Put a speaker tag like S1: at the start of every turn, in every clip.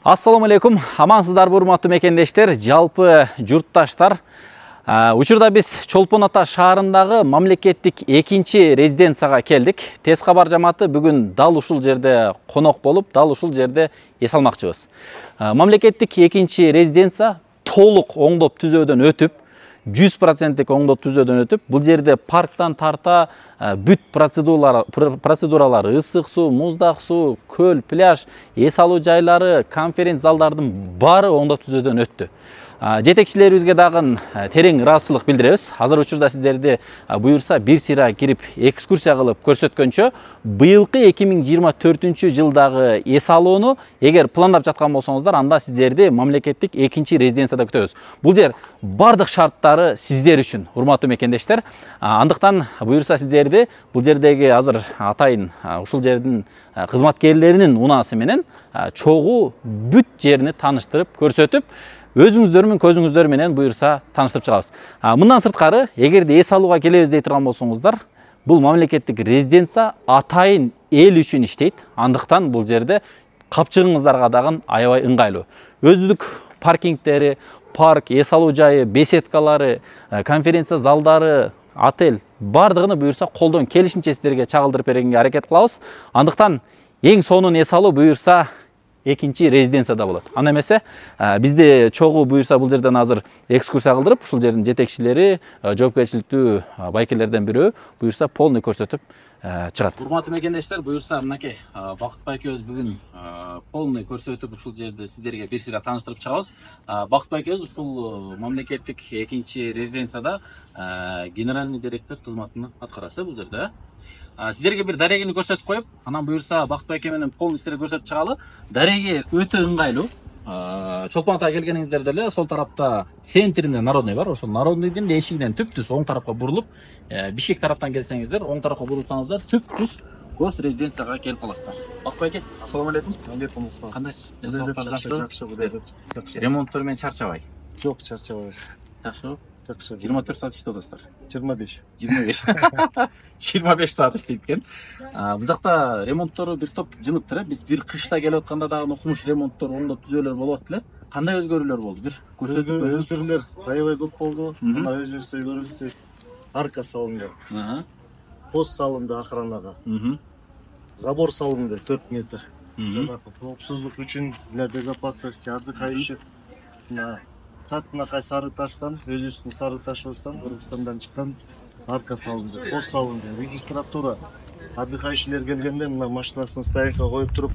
S1: Ассаламу алейкум, амансыздарбы урматтуу мекендештер, жалпы журтташтар. Учурда биз Чолпон Ата шаарындагы мамлекеттик экинчи резиденцияга келдик. Тез кабар жамааты бүгүн дал ушул жерде конок болуп, дал ушул жерде эс алмакчыбыз. Мамлекеттик экинчи резиденция толук оңдоп түзөөдөн өтүп, 100% оңдоп түзөөдөн өтүп, бул жерде парктан тарта бүт процедуралар, ысык суу, муздак суу, көл, пляж, эс алуу жайлары, конференц залдардын баары оңдоп түзөөдөн өттү. Жетекчилерибизге дагы терең ыраазычылык билдиребиз. Азыр учурда сиздерди буюрса бир сыйра кирип экскурсия кылып көрсөткөнчө, быйылкы 2024-жылдагы эс алууну эгер пландап жаткан болсоңуздар, анда сиздерди мамлекеттик экинчи резиденцияда күтөбүз. Бул жер бардык шарттары сиздер үчүн, урматтуу мекендештер. Андыктан буюрса сиздерди бул жердеги азыр атайын ушул жердин кызматкерлеринин унаасы менен чогуу бүт жерини тааныштырып көрсөтүп, өзүңүздөр менен көзүңүздөр менен буюрса тааныштырып чыгабыз. Мындан сырткары, эгерде эс алууга келебиз дей турган болсоңуздар, бул мамлекеттик резиденция атайын эл үчүн иштейт. Андыктан бул жерде капчыгыңыздарга дагы аябай ыңгайлуу. Өздүк паркингдери, парк, эс алуу жайы, беседкалары, конференция залдары, отель бардыгыны буюрса колдон келишинче сиздерге чагылдырып бергенге аракет кылабыз. Андыктан эң сонун эс алуу буюрса экинчи резиденцияда болот. Анда эмесе, бизде чогуу буюрса бул жерден азыр экскурсия кылдырып, ушул жердин жетекчилери, жоопкерчиликтүү байкелерден бирөө буюрса полный көрсөтүп чыгат. Урматтуу мекендештер, буюрса мынакей Бакытбай экөөбүз бүгүн полный көрсөтүп ушул жерде сиздерге бир сыйра тааныштырып чыгабыз. Бакытбай экөөбүз ушул мамлекеттик экинчи резиденцияда генеральный директор кызматын аткарасы бул жерде. Сиздерге бир дарегини көрсөтүп коюп, анан буюрса Бакытбай эке менен полный сиздерге көрсөтүп чыгалы. Дареги өтө ыңгайлуу. Чолпон Атага келгениңиздерде эле сол тарапта центринде Народный бар. Ошол Народныйдын эшигинен түп-түз оң тарапка бурулуп, Бишкек тараптан келсеңиздер, оң тарапка бурулсаңыздар, түп-түз гос резиденцияга келип каласыздар. Бакытбай эке, ассаламу алейкум.
S2: Алейкум ассалам.
S1: Кандайсыз?
S2: Жакшы.
S1: Ремонттор менен чарчабай.
S2: Жок, чарчабайбыз.
S1: Жакшыбы?
S2: Жакшы.
S1: 24 саат иштеп атасыздар.
S2: 25.
S1: 25 саат иштейт экен. Бул жакта ремонттору бир топ жыныптыр. Биз бир кышта келип атканда дагы окумуш ремонттор, оңдоп түзөөлөр болуп аттылы. Кандай өзгөрүүлөр болду? Бир көрсөтүп
S2: Өзгөрүүлөр аябай көп болду. Мына өзүңүздөр көрүңүздөр. Арка салынды. Пост салынды охранага. Забор салынды 4 метр. Коопсуздук үчүн для безопасности отдыхающих. Катынакай Сары Таштан, өзүбүздүн Сары Ташыбыздан, Кыргызстандан чыккан арка салынды, пост салынды, регистратура. Отдыхающийлер келгенде мына машинасын стоянкага коюп туруп,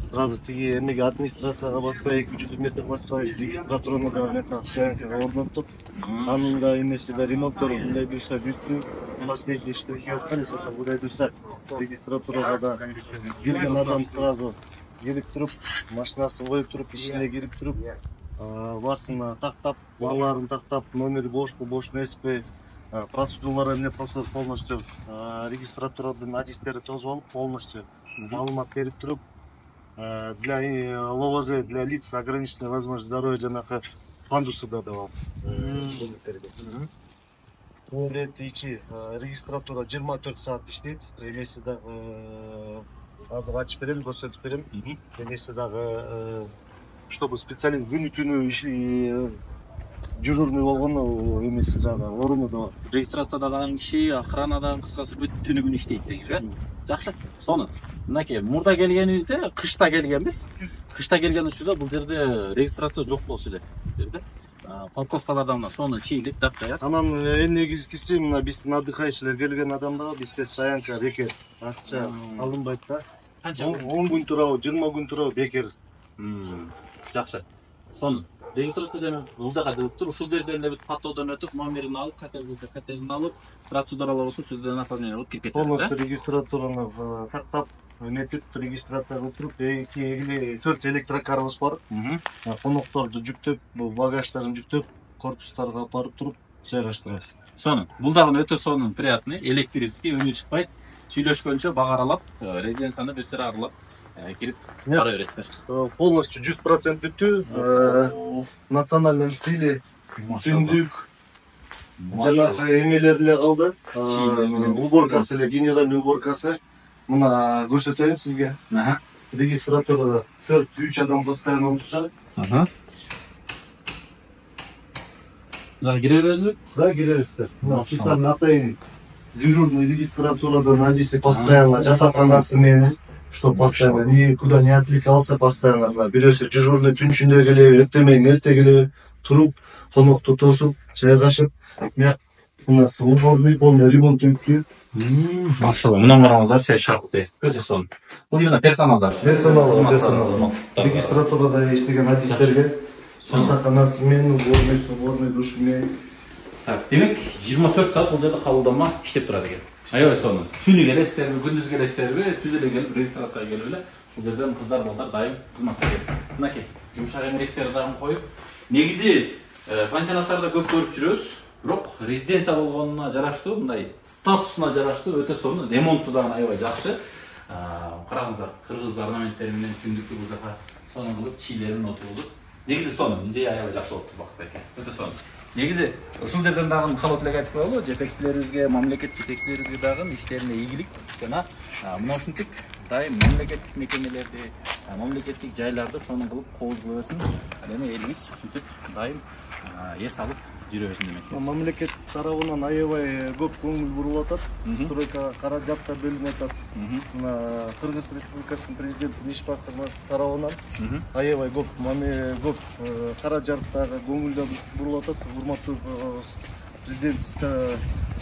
S2: сразу тиги эмеге администрацияга баспай 200 метр баспай регистратураны да стоянкага орноттуп, анын да эмеси да ремонттору мындай буюрса бүттү. Последний штрихи остались, ошо мындай буюрса регистратурага да келген адам сразу келип туруп, машинасын коюп туруп, ичине кирип туруп, барсына тактап, бааларын тактап, номер бошпу, бош эмеспи, процедуралар эмне просто полностью регистратурадан адистери тосуп алып, полностью маалымат берип туруп, для ЛВЗ, для лиц с ограниченной возможностью здоровья жанакы пандусы да алып. Туалет ичи регистратура 24 саат иштейт. Эмеси дагы азыр ачып берем, көрсөтүп берем. Эмеси дагы чтобы специалист күнү түнү дежурный болгону эмеси дагы оруну да бар.
S1: Регистрацияда дагы киши, охранада кыскасы бүт түнү күнү иштейт дейсиз, э? Жакшы. Сонун. Мынакей, мурда келгенибизде кышта келгенбиз. Кышта келген учурда бул жерде регистрация жок болчу эле. Парковкалардан мына сонун чийилип, дапдаяр.
S2: Анан эң негизгиси мына биздин отдыхающийлер келген адамдарга бизде стоянка бекер, акча алынбайт да.
S1: Канча?
S2: 10 күн турабы, 20 күн турабы бекер.
S1: Жакшы. Сонун. Регистрациядан бул жака жүрүп туруп, ушул жерден эле бүт паттоодон өтүп, номерин алып, коттеджин алып, процедуралар болсо ушул жерден оформление кылып кирип кетет.
S2: Полностью регистратураны тактап, өнөтүп, регистрация кылып туруп, 4 электрокарыбыз бар. Конокторду жүктөп, багаждарын жүктөп, корпустарга алып барып туруп, жайгаштырабыз.
S1: Сонун. Бул дагы өтө сонун, приятный, электрический, үнү чыкпайт. Сүйлөшкөнчө бага аралап, резиденцияны бир сыра аралап кирип бара бересиздер.
S2: Полностью 100% бүттү. Национальный стиле, түндүк, жанагы эмелер эле калды. Уборкасы эле, генеральный уборкасы. Мына көрсөтөйүн сизге. регистратурада 4-3 адам постоянно отурушат.
S1: Да, кире бердик?
S2: Да, киребиздер. Специально атайын дежурный регистратурада надиси постоянно жатаканасы менен, что постоянно никуда не отвлекался, постоянно бирөөсү дежурный түн ичинде келеби, эртең эрте келеби, туруп, конокту тосуп, жайгашып, у нас уборный полный ремонт өткү.
S1: Машалла, мындан караңыздар, чай шартты. Өтө сонун. Бул именно персоналдар.
S2: Персонал. Регистратурада иштеген адистерге жатаканасы менен, уборный душу менен.
S1: Так, демек 24 саат бул жерде кабылданма иштеп турат экен. Аябай сонун. Түнү келесиздерби, күндүз келесиздерби, түз эле келип регистрацияга келип эле бул жерден кыздар балдар дайым кызматка келет. Мынакей, жумшак эмгектер дагы коюп. Негизи пансионаттарда көп көрүп жүрөбүз, бирок резиденция болгонуна жараштуу, мындай статусуна жараштуу өтө сонун, ремонту дагы аябай жакшы. Караңыздар, кыргыз орнаменттери менен түндүктү бул жака сонун кылып чийлерин отургузуп. Негизи сонун, идея аябай жакшы болуптур Бакытбек эке. Өтө сонун. Негизи ушул жерден дагы калып эле айтып коелу, жетекчилерибизге, мамлекет жетекчилерибизге дагы иштерине ийгилик жана мына ушинтип дайым мамлекеттик мекемелерди, мамлекеттик жайларды сонун кылып кооз кылып берсин. Эми элибиз ушинтип дайым эс алып жүрө берсин демекчи.
S2: Мамлекет тарабынан аябай көп көңүл бурулуп атат. Стройка каражат да бөлүнүп атат. Мына Кыргыз Республикасынын президенти иш бактырмасы тарабынан аябай көп каражат дагы көңүл да бурулуп атат. Урматтуу президент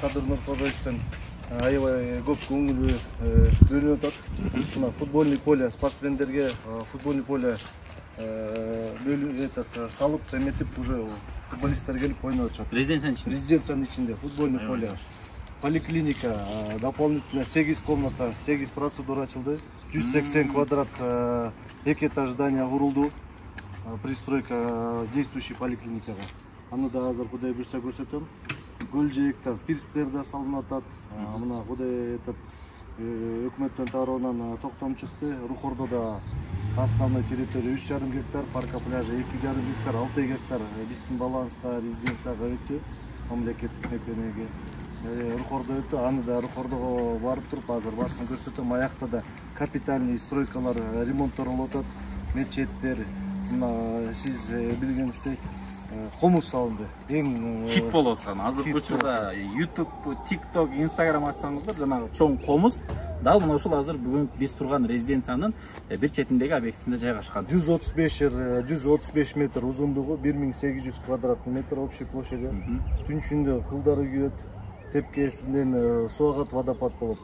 S2: Садыр Нуркодоевден аябай көп көңүл бөлүнүп атат. Мына футбольный поле спортсмендерге футбольный поле салып эметип уже футболисттер келип ойноп атышат. Резиденциянын ичинде футбольный поле. Поликлиника, дополнительно 8 комната, 8 процедура ачылды. 180 квадрат 2 этаж здание курулду. Пристройка действующий поликлиникага. Аны да азыр кудай буйрса көрсөтөм. Гөл жээктер, пирстер да салынып атат. Мына кудай өкмөттөн тарабынан токтом чыкты. Рухордо да основной территория 3,5 гектар, парка пляжа 2,5 гектар, 6 гектар биздин баланска резиденцияга өттү, мамлекеттик мекемеге. Рухордо өттү, аны да Рухордого барып туруп азыр барсын көрсөтөм. Аякта да капитальный стройкалар ремонттолуп атат, мечеттер. Мына сиз билгениңиздей комуз салынды. Эң
S1: хит болуп аткан. Азыр учурда YouTube, TikTok, Instagram ачсаңыздар, жанагы чоң комуз дал мына ушул азыр бүгүн биз турган резиденциянын бир четиндеги объектисинде жайгашкан. 135 метр узундугу, 1800 квадрат метр общий площади. Түн ичинде кылдары күйөт, тепкесинен суу агат, водопад болот.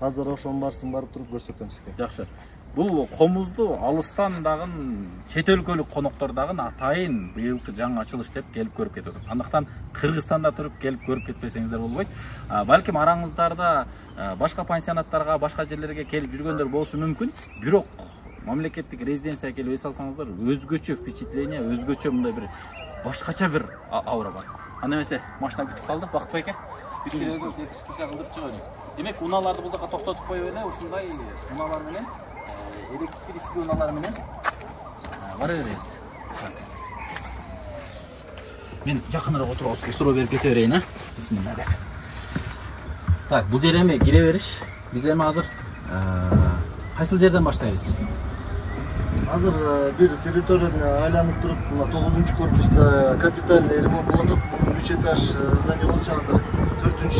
S1: Азыр ошонун барсын барып туруп көрсөтөм сизге. Жакшы. Бул комузду алыстан дагы чет өлкөлүк коноктор дагы атайын быйылкы жаңы ачылыш деп келип көрүп кетип атат. Андыктан Кыргызстанда туруп келип көрүп кетпесеңиздер болбойт. Балким араңыздарда башка пансионаттарга, башка жерлерге келип жүргөндөр болушу мүмкүн. Бирок мамлекеттик резиденцияга келип эс алсаңыздар, өзгөчө впечатление, өзгөчө мындай бир башкача бир аура бар. Анда эмесе машина күтүп калдык, Бакытбек эке. Бирсиңиз кылып чыгабыз. Демек, унааларды бул жака токтотуп коюп эле, ушундай унаалар менен электрический унаалар менен бара беребиз. Мен жакыныраак отуруп алып суроо берип кете берейин, а? Бисмилла. Так, бул жер эми кире бериш. Биз эми азыр кайсыл жерден баштайбыз?
S2: Азыр бир территорияны айланып туруп, мына 9-корпуста капитальный ремонт болуп атат. Бул 3 этаж здание болчу, азыр 4-этаж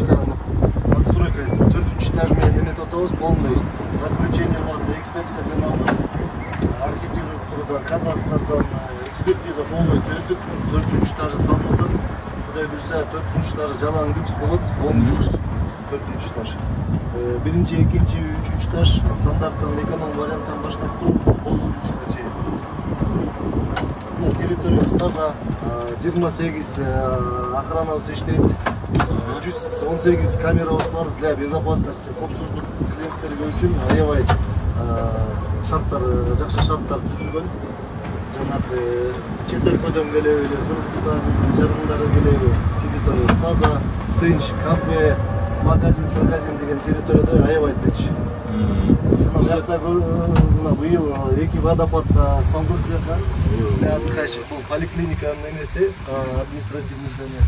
S2: отстройка 4-этаж менен эметип атабыз, полный заключенияларды эксперттерден алдык. Архитектурада, кадастрдан экспертиза полностью өтүп, 4-этажа салынып атат. Кудай буйрса 4-этажа жалаң люкс болот, 10 люкс 4-этаж. Биринчи, экинчи, үчүнчү этаж стандарттан эконом варианттан баштап туруп, полный люкска чейин. Территория таза, 28 охранабыз иштейт. 118 камерабыз бар для безопасности, коопсуздук клиенттерге үчүн аябай шарттар, жакшы шарттар түзүлгөн. Жанагы чет өлкөдөн келеби, Кыргызстан жарандары келеби, территория таза, тынч, кафе, магазин деген территорияда аябай тынч. Мына быйыл 2 водопад салдык жака. Для отдыхающих бул поликлиниканын эмеси, административный здание.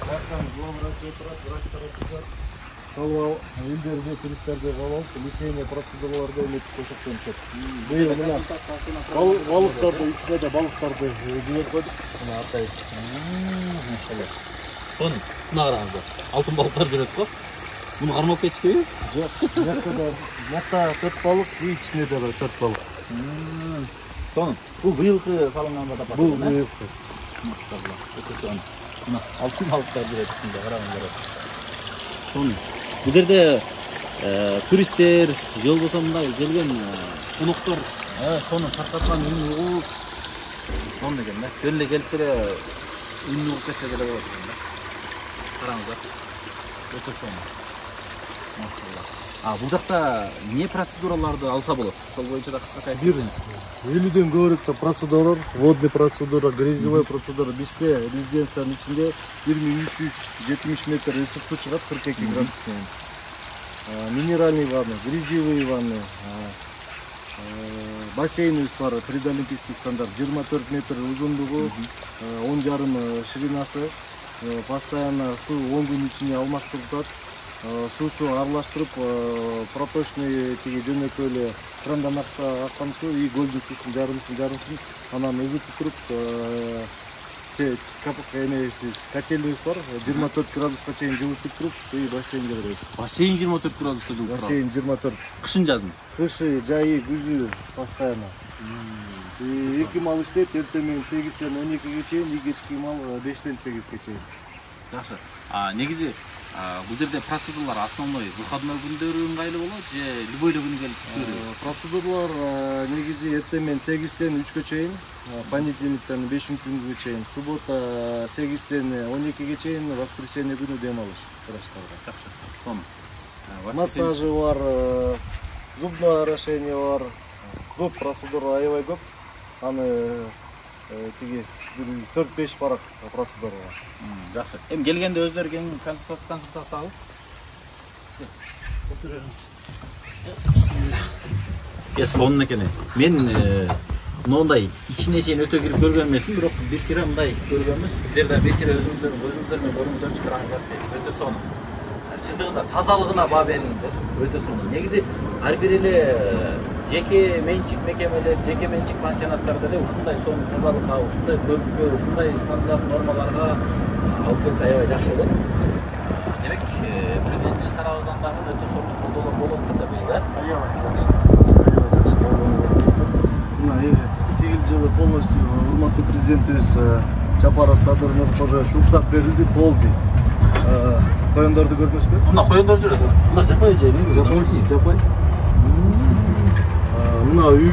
S2: Бактан главврач отурат, врачтар отурат. калып элдерде туристтерде калып лечение процедураларды эметип кошоктонушат. Быйыл мына балыктарды ичине да балыктарды жиберип койдук. Мына атайын.
S1: Машалла. Мына караңыздар. Алтын балыктар жүрөт го. Муну кармалып кетишпейби?
S2: Жок. Мата 4 балык, ичине да 4 балык.
S1: Сонун. Бул быйылкы салынган да бар.
S2: Бул быйылкы.
S1: Машалла. Мына алтын балыктар жүрөт ичинде, караңыздар. Сонун. Бул жерде туристтер, жол болсо мындай келген коноктор сонун таркаткан үнү угуп, сонун экен да. Жөн эле келип эле үнү угуп кетсе деле болот экен да. Караңыздар. Өтө сонун. Машалла. Бул жакта эмне процедураларды алса болот? Ошол боюнча да кыскача айтып берсеңиз.
S2: 50ден көбүрөөк процедуралар, водный процедура, грязевой процедура. Бизде резиденциянын ичинде 1370 метр ысык суу чыгат 42 градус менен. Минеральный ванны, грязевые ванны, бассейнибиз бар, предолимпийский стандарт, 24 метр узундугу, 10,5 ширинасы, постоянно суу 10 күн ичинде алмаштырылат. Суусу аралаштырып, проточный тиги жөнөкөй эле крандан аккан суу и көлдүн суусун жарымсын, анан ызытып туруп, котельнибиз бар, 24 градуска чейин жылытып туруп, и бассейнге беребиз.
S1: Бассейн 24 градуста жылып турат.
S2: Бассейн 24.
S1: Кышын жазын.
S2: Кышы, жайы, күзү постоянно. Эки мал иштейт, эртең менен 8ден 12ге чейин, и кечки мал 5ден 8ге чейин.
S1: Жакшы. Негизи бул жерде процедуралар основной выходной күндөрү ыңгайлуу болот же любой эле күнү келип түшүрөбү?
S2: Процедуралар негизи эртең менен 8ден 3ге чейин, понедельниктен 5-күнгө чейин, суббота 8ден 12ге чейин, воскресенье күнү дем алыш врачтарга.
S1: Жакшы. Сонун.
S2: Массажы бар, зубное орошение бар, көп процедура аябай көп. Аны тиги 4-5 барак процедура бар.
S1: Жакшы. Эми келгенде өздөрү консультация алып отурабыз. Сонун экен. Мен мындай ичине чейин өтө кирип көргөн эмесмин, бирок бир сыйра мындай көргөнбүз. Сиздер да бир сыйра өзүңүздөр менен көрүңүздөрчү, караңыздарчы. Өтө сонун. Чындыгында тазалыгына баа бериңиздер. Өтө сонун. Негизи ар бир эле жеке менчик мекемелер, жеке менчик пансионаттарда эле ушундай сонун тазалыкка, ушундай көрккө, ушундай стандарт нормаларга алып келсе аябай жакшы болот. Демек, президентибиз тарабынан дагы өтө сонун колдоолор болот деп атабыз, да?
S2: Аябай жакшы. Мына тигил жылы полностью урматтуу президентибиз Чапаров Садыр Нуркожоевич уруксат берилди, болду. Коёндорду көрдүңүзбү?
S1: Мына коёндор жүрөт. Мына жапай жайы, жапай.
S2: Мына үй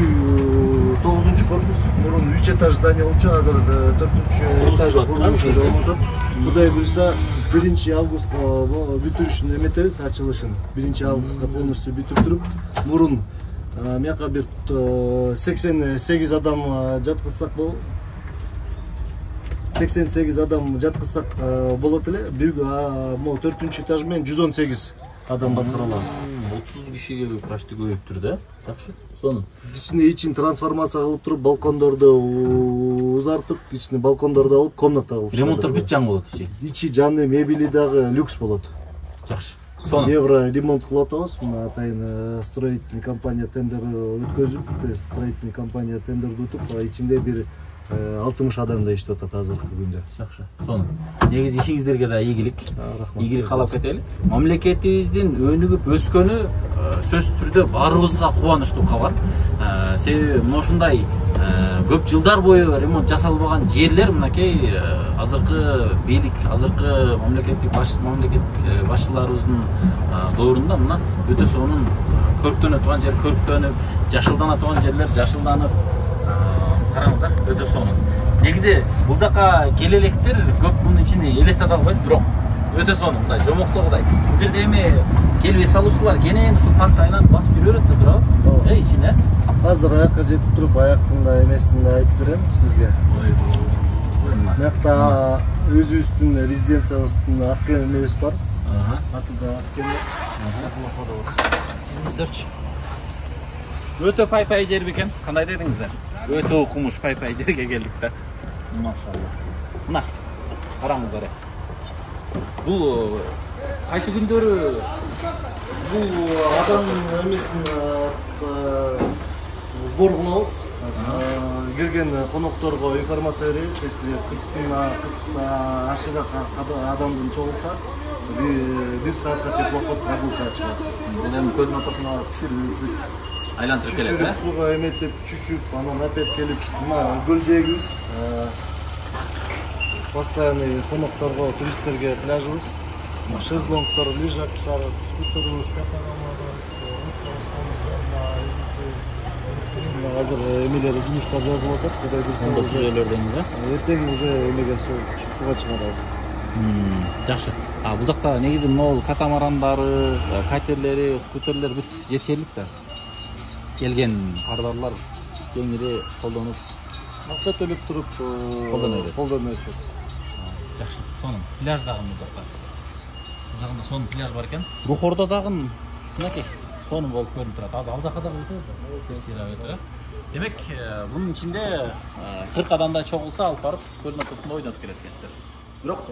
S2: 9-корпус, мурун 3 этаж здание болчу, азыр 4-этаж курулушу болуп атат. Кудай буйрса 1 августка бүтүрүшүн эметебиз, ачылышын 1 августка полностью бүтүп туруп, мурун мияка бир 88 адам жаткызсак болот. 88 адам жаткызсак болот эле. Могу 4-этаж менен 118 адам баткыра алабыз.
S1: 30 кишиге прачты көбөйүптүр да. Жакшы. Сонун.
S2: Ичине ичин трансформация кылып туруп, балкондорду узартып, ичине балкондорду алып, комната кылып.
S1: Ремонттор бүт жаңы болот ичи.
S2: Ичи жаңы, мебели дагы люкс болот.
S1: Жакшы. Сонун.
S2: Евро ремонт кылып атабыз. Мына атайын строительный компания тендер өткөзүп, строительный компания тендерди утуп, ичинде бир 60 адамда иштеп атат азыркы күндө.
S1: Жакшы. Сонун. Негизи ишиңиздерге да ийгилик. Ийгилик каалап кетели. Мамлекетибиздин өнүгүп өскөнү сөзсүз түрдө баарыбызга кубанычтуу кабар. Себеби ушундай көп жылдар бою ремонт жасалбаган жерлер мынакей азыркы бийлик, азыркы мамлекеттик башчыларыбыздын доорунда мына өтө сонун көрктөнө турган жер көрктөнүп, жашылдана турган жерлер жашылданып, караңыздар, өтө сонун. Негизи бул жака келе электер көп мунун ичин элестете албайт, бирок өтө сонун, мындай жомоктогудай. Бул жерде эми келбей салуучулар кенен ушул паркты айланып басып жүрөт да туурабы? Ичине.
S2: Азыр аякка жетип туруп, аяктын да эмесин да айтып берем сизге. Мынакта өзүбүздүн резиденциябыздын аккен эмебиз бар. Аты да аккен.
S1: Жүрүңүздөрчү. Өтө пай жер бекен. Кандай дедиңиздер? Өтө окумуш пай жерге келдик да. Машалла. Мына караңыздар. Бул кайсы күндөрү
S2: Бул адам эмесин сбор кылабыз. Келген конокторго информация беребиз. Если 40 ашыга адамдын чогулса, 1 саатка теплоход прогулка чыгат.
S1: Бул эми көздүн ортосуна түшүрүп айлантырып келет, э?
S2: Суга эметип, түшүп, анан опять келип, мына көл жээгибиз. Постоянный конокторго, туристтерге пляжыбыз. Шезлонгтор, лежактар, скутерыбыз, катамардар, азыр эмелер жумуштар жазылып атат. Кудай буйрса
S1: түзөлөрдөн, э?
S2: Эртең уже эмеге суга чыгарабыз.
S1: Жакшы. Бул жакта негизи могул катамарандары, катерлери, скутерлер бүт жетишерлик да. Келген кардарлар кеңири колдонуп,
S2: акча төлөп туруп колдоно беришет.
S1: Жакшы. Сонун пляж дагы бул жакта. Бул жагында сонун пляж бар экен. Рухордо дагы мынакей сонун болуп көрүнүп турат. Азыр ал жака дагы өтөбү. Демек, бунун ичинде 40 адамдай чогулса алып барып көлдүн ортосунда ойнотуп келет экенсиздер. Бирок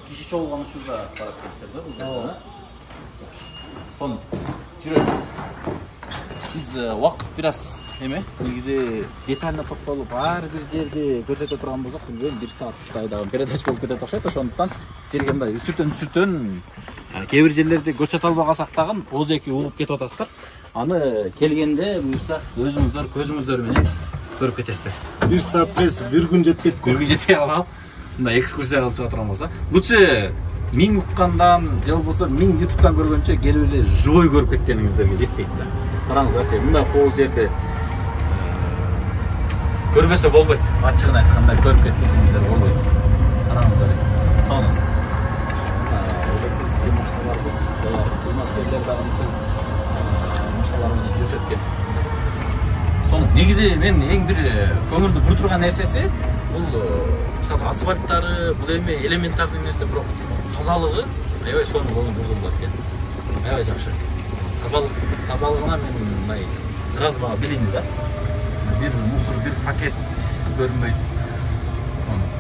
S1: киши чогулган учурда барат экенсиздер да бул жерде. Сонун. Жүрөйүк. Биз убакыт бир аз негизи детально токтолуп ар бир жерди көрсөтө турган болсок, билбейм, 1 сааттай дагы передача болуп кетет окшойт. Ошондуктан сиздерге мындай үстүртөн кээ бир жерлерди көрсөтө албагасак дагы ооз-эки угуп кетип атасыздар. Аны келгенде буюрса өзүңүздөр көзүңүздөр менен көрүп кетесиздер.
S2: 1 саат эмес, 1 күн жетпейт.
S1: Bir gün жетпей калып, мындай экскурсия кылып чыга турган болсо, лучше 1000 уккандан же болбосо 1000 ютубтан көргөнчө келип эле живой көрүп кеткениңиздерге жетпейт да. Караңыздарчы, мындай кооз жерди көрбөсө болбойт. Ачыгын айтканда көрүп кетпесеңиздер болбойт. Караңыздар. Сонун. Электрический машиналар бар. Кызматкерлер дагы ушул машиналар менен жүрүшөт экен. Сонун. Негизи мен эң бир көңүлдү бур турган нерсеси бул мисалы асфальттары, бул эми элементарный нерсе, бирок тазалыгы аябай сонун көңүл бурулат экен. Аябай жакшы. Тазалыгына мен мындай сразу мага билинди да. Bir мусор, bir пакет көрүнбөйт.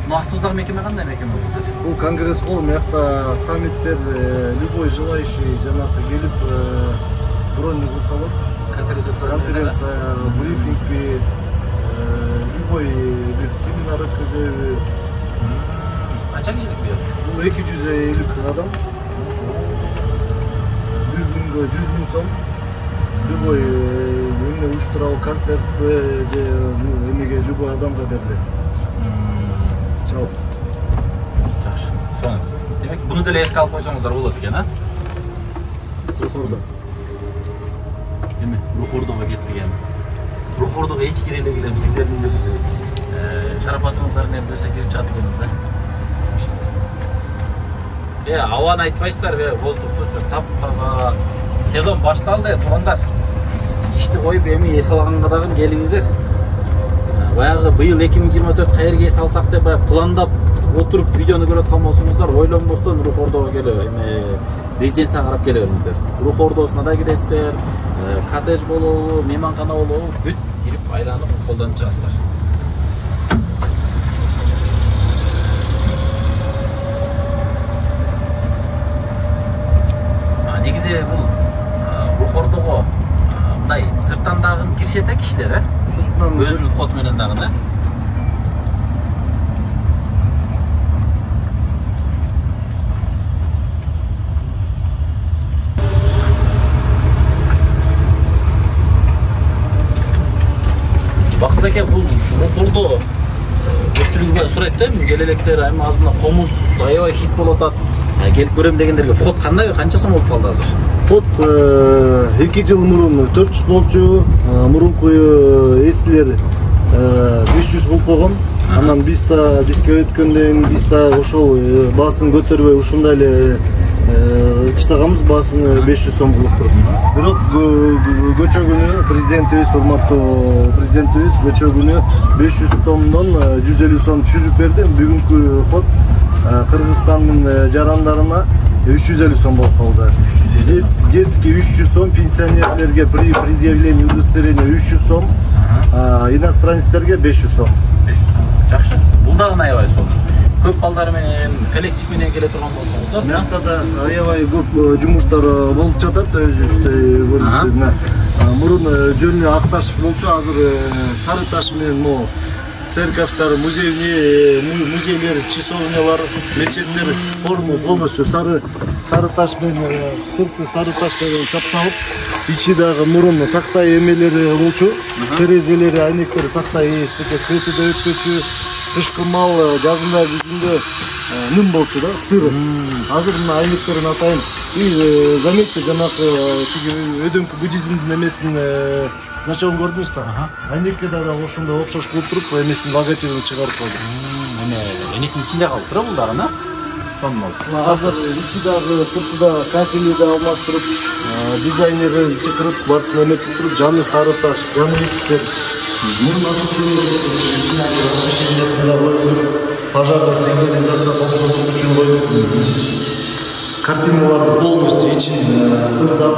S1: Мына астыбыздагы мекеме кандай мекеме болот?
S2: Бул конгресс холл, мыякта саммиттер, любой желающий жанагы келип бронь кылса болот. Конференция, брифинг, любой бир семинар өткөзөбү.
S1: Канча кишилик бер?
S2: Бул 250 адам. Bir күнгө 100 000 сом. Любой уюштурабы концерт же эмеге любой адамга берилет. Чоң.
S1: Жакшы. Сонун. Демек, буну деле эске алып койсоңуздар болот экен, а?
S2: Рухордо.
S1: Эми Рухордого кетпеген. Рухордого эч кире эле келем, сиздердин бир шарапатыңыздар менен берсе кирип чыгат экенбиз да. Абаны айтпайсыздар, воздухту таптаза. Сезон башталды, туугандар. Ишти коюп эми эс алганга дагы келиңиздер. Баягы быйыл 2024 кайерге эс алсак деп пландап отуруп видеону көрүп аткан болсоңуздар, ойлонбостон Рухордого келип, эми резиденцияга карап келе бериңиздер. Рухордосуна да киресиздер, коттедж болобу, мейманкана болобу, бүт кирип айланып колдонуп чыгасыздар. Негизи бул Рухордого мындай сырттан дагы киришет кишилер,
S2: Сырттан
S1: өзүнүн вход менен дагы да. Бакыт эке, бул Рухордо көпчүлүк сурайт да, келелектер эми азында комуз аябай хит болуп атат. Келип көрөм дегендерге вход кандай, канча сом болуп калды азыр?
S2: Вход 2 жыл мурун 400 болчу, мурунку эслер 500 болуп койгон. Анан бизге өткөндөн биз ошол баасын көтөрбөй ушундай эле чыдаганбыз, баасын 500 сом кылып туруп. Бирок көчө күнү президентибиз, урматтуу президентибиз көчө күнү 500 сомдон 150 сом түшүрүп берди. Бүгүнкү вход Кыргызстандын жарандарына 350 сом болуп калды. Детский 300 сом, пенсионерлерге при предъявлении удостоверения 300 сом, иностранецтерге 500 сом.
S1: 500 сом. Жакшы. Бул дагы аябай сонун. көп балдар менен, коллектив менен келе турган болсоңуз да.
S2: Мякта да аябай көп жумуштар болуп жатат өзүбүздө көрүнүштө. Мурун жөнү ак таш болчу, азыр сары таш менен могу церковьтар, музейлер, часовнялар, мечеттер полностью сары таш менен, сырты сары таш менен капталып, ичи дагы мурун тактай эмелери болчу, терезелери, айнектери тактай свети да өткөчү, кышкы мал жазында күзүндө ним болчу да, сырыс. Азыр мына айнектерин атайын. И заметьте, жанакы өдөңкү буддизмдин эмесин началын көрдүңүз да? Айнекке да ошондой окшош кылып туруп, эмесин логотипин чыгарып койду.
S1: Айнектин ичинде калып тура бул дагы, сонмол.
S2: Азыр ичи дагы, сырты да кафели да алмаштырып, дизайнер чакырып, барысын эметип туруп, жаны сары таш, жаны эшиктер. Пожарный сигнализация коопсуздук үчүн коюп, картиналарды полностью ичин сырдап.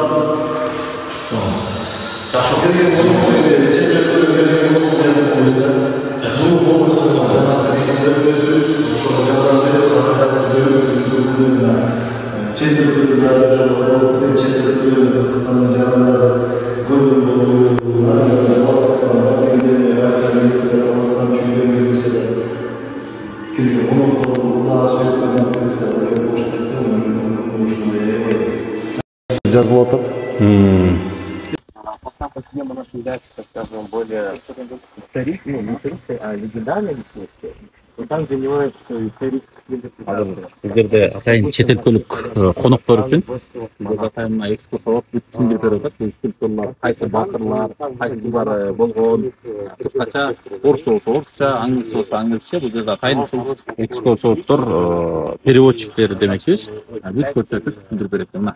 S2: Жазылып атат.
S3: Скажем, более исторические, не исторические, а легендарные личности. И там занимаются исторические.
S1: Бул жерде атайын чет өлкөлүк коноктор үчүн атайын экскурсиялап түшүндүрүп берип атат. Бул скульптурлар кайсы баатырлар, кайсылар болгон, кыскача орусча болсо орусча, англисче болсо англисче. Бул жерде атайын ушул экскурсоводдор, переводчиктер демекчибиз, бүт көрсөтүп түшүндүрүп берет экен.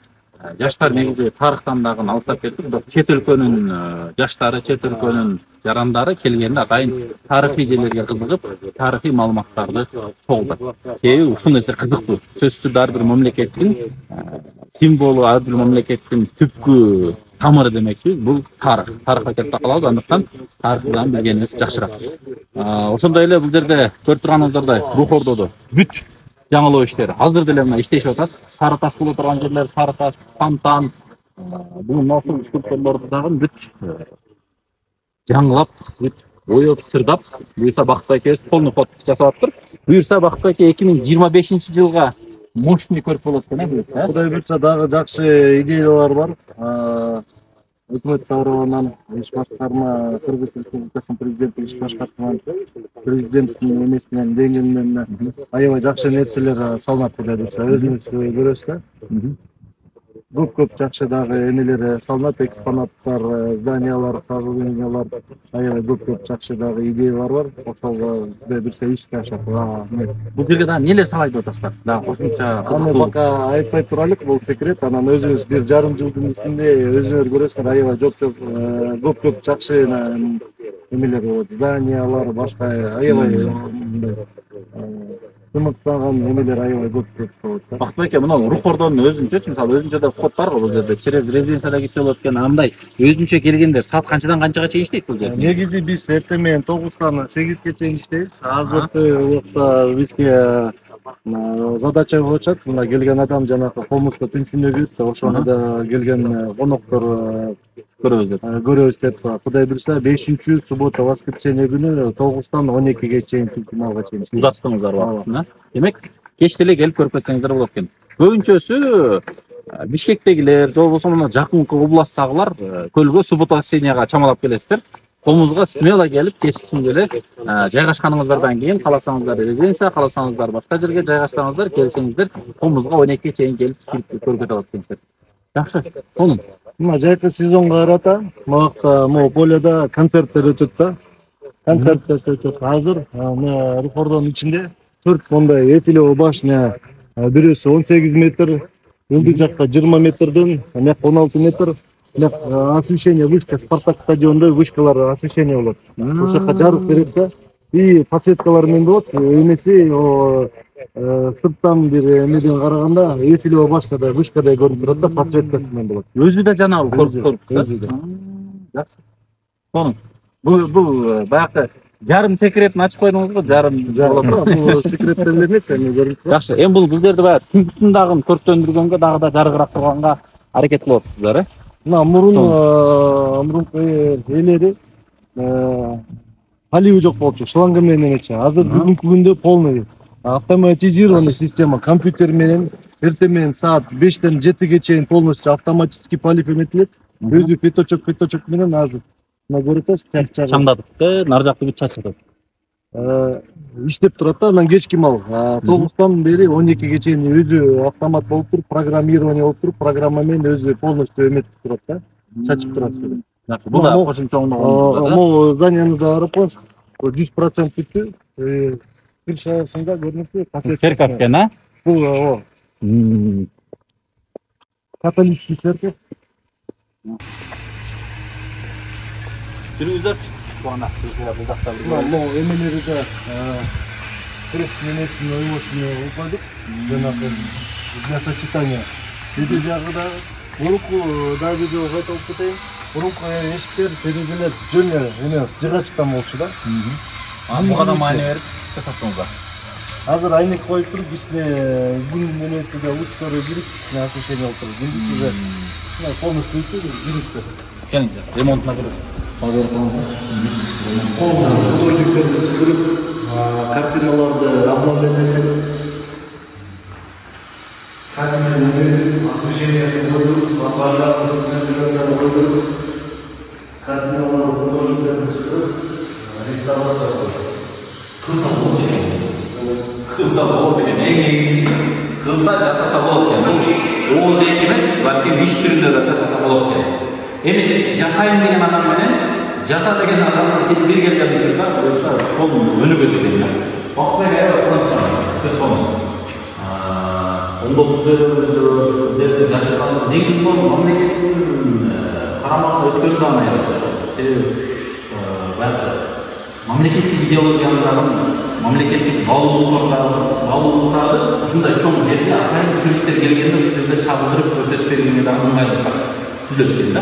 S1: Жаштар негизи тарыхтан дагы алыстап кетип, бирок чет өлкөнүн жаштары, чет өлкөнүн жарандары келгенде атайын тарыхый жерлерге кызыгып, тарыхый маалыматтарды чогултат. Себеби ушул нерсе кызыктуу. Сөзсүз ар бир мамлекеттин символу, ар бир мамлекеттин түпкү тамыры демекчибиз. Бул тарых. Тарыхка кетип такалабыз, андыктан тарыхтан билгенибиз жакшыраак. Ошондой эле бул жерде көрүп турганыңыздардай Рух Ордодо бүт жаңылоо иштери азыр деле мына иштешип атат. Сары таш боло турган жерлер, сары таш, фонтан, бул ноосул скульптурлорду дагы бүт жаңылап, бүт боёп, сырдап, буюрса Бакыт экебиз полный ход жасап атыптыр. Буюрса Бакыт эке 2025-жылга мощный көрүп болот экен,
S2: Кудай буйрса дагы жакшы идеялар бар. Өкмөт тарабынан иш башкарма, Кыргыз Республикасынын президенти иш башкармасынан, президенттин эмесинен, деңгээлинен аябай жакшы нерселер салынат Кудай буйрса. Өзүңүз көрөсүз да. Көп жакшы дагы эмелер салынат, экспонаттар, зданиялар, сооружениялар, аябай көп жакшы дагы идеялар бар. Ошого Кудай буйрса ишке ашат.
S1: Бул жерге дагы нелер салайт деп атасыздар? Дагы кошумча кызыктуу.
S2: Пока айтпай турайлык, бул секрет. Анан өзүңүз 1,5 жылдын ичинде өзүңөр көрөсүздөр, аябай көп жакшы эмелер болот. Зданиялар, башка аябай тымыктаган эмелер аябай көп болот.
S1: Бакыт эке, мына Рух Ордонун өзүнчөчү, мисалы өзүнчө да вход бар го бул жерде. Через резиденцияда кирсе болот экен. Андай өзүнчө келгендер саат канчадан канчага чейин иштейт бул жерде?
S2: Негизи биз эртең менен 9-тан 8-ге чейин иштейбиз. Азыркы убакта бизге задача болуп атат. Мына келген адам жанагы комузга түнчүнөгүт, ошону да келген коноктор көрөбүз деп. Кудай буйрса 5-суббота, воскресенье күнү 9-тан 12-ге чейин финалга чейин
S1: узаттыңыздар убактысын. Демек, кеч деле келип көрүп кетсеңиздер болот экен. Көбүнчөсү Бишкектегилер, же болбосо мына жакынкы областтагылар көлгө суббота, воскресеньега чамалап келесиздер. Комузга смело келип, кечкисин деле жайгашканыңыздардан кийин кааласаңыздар резиденция, кааласаңыздар башка жерге жайгашсаңыздар, келсеңиздер комузга 12-ге чейин келип көрүп кете алат экенсиздер. Жакшы. Сонун.
S2: Мына жайкы сезонго карата могакта могу поледа концерттер өтөт да. Концерттер өтөт. Азыр мына Рух Ордонун ичинде 4 мондай Эйфелева башня, бирөөсү 18 метр, ылдый жакта 20 метрден, мына 16 метр, освещение вышка, Спартак стадионунда вышкалар освещение болот. Ошол жака жарык берет да. И подсветкалар менен болот. Эмеси сырттан бир эмеден караганда Эйфелева башкада вышкадай көрүнүп турат да, подсветкасы менен болот.
S1: Өзү да жанагы көрүп. Жакшы. Сонун. Бул баягы жарым секретин ачып койдуңуз го, жарым
S2: бул секреттер эмес, эми көрүп туруп.
S1: жакшы. Эми бул гүлдөрдү баягы түнкүсүн дагы көрктөндүргөнгө дагы да жарыгыраак турганга аракет кылып атасыздар, э?
S2: Мына мурунку ээлери поливи жок болчу, шланга менен эмечи. Азыр бүгүнкү күндө полный автоматизированный система, компьютер менен эртең менен саат 5-тен 7-ге чейин полностью автоматический полив эметилет. Өзү пятачок менен азыр мына көрүп атасыз,
S1: чамдатып, нар жакты бүт чачып атат.
S2: Иштеп турат да, анан кечки мал 9-тан бери 12-ге чейин өзү автомат болуп туруп, программирование болуп туруп, программа менен өзү полностью эметип турат да, чачып турат.
S1: Бул да кошумча
S2: могу зданияны да карап коюңуз. 100% бүттү. Крышасында көрүнөтпү?
S1: Церковь экен, а?
S2: Бул католический церковь.
S1: Жүрүңүздөрчү. Буана бул жакта
S2: могу эмелери да крест менесин оюбосун койдук. Жанагы для сочетания. Эти жагы да мурунку да видео айтып кетейин. Мурунку эшиктер, терезелер жөн эме жыгачтан болчу да.
S1: Буга да маани берип жасаттыңыздар.
S2: Азыр айнек коюп туруп, ичине күн немеси да лучтары кирип, ичине освещение болуп туруп. Күндүз уже полностью бүттү, жүрүштүр.
S1: Келиңиздер, ремонтуна кирип.
S2: Художниктерди чакырып, картиналарды обновление картиналарды освещениясын койдук, лампаларды сигнализацияны койдук. Картиналарды художниктерди чакырып, реставрация кылдык.
S1: Кылса болот экен, эң негизгиси кылса жасаса болот экен. Ооз эки эмес, балким иш түрүндө да жасаса болот экен. Эми жасайм деген адам менен жаса деген адамдын тили бир келген учурда койса сол өнүгөт экен да. Бактык аябай сонун. Оңдоп түзөбүз, жерди жашырган. Негизи бул мамлекеттин карамагына өткөндө гана аябай. Себеби баягы мамлекеттик идеологиянын мамлекеттик баалуулуктарды ушундай чоң жерге атайын туристтер келгенде ушул жерде чабылдырып көрсөтүп бергенге дагы ыңгайлуу шарт түзүлөт экен да.